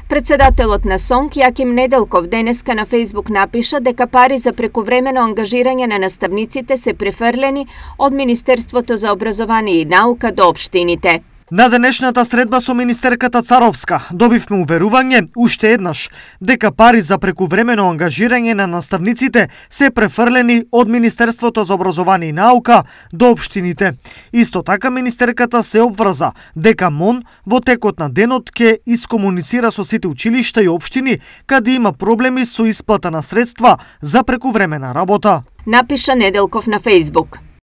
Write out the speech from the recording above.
Председателот на СОНК Јаким Неделков денеска на Фејсбук напиша дека пари за прекувремено ангажирање на наставниците се префрлени од Министерството за образование и наука до општините. На денешната средба со министерката Царовска добивме уверување уште еднаш дека пари за прекувремено ангажирање на наставниците се префрлени од Министерството за образование и наука до општините. Исто така министерката се обврза дека МОН во текот на денот ќе искомуницира со сите училишта и општини каде има проблеми со исплата на средства за прекувремена работа. Напиша Неделков на Фејсбук.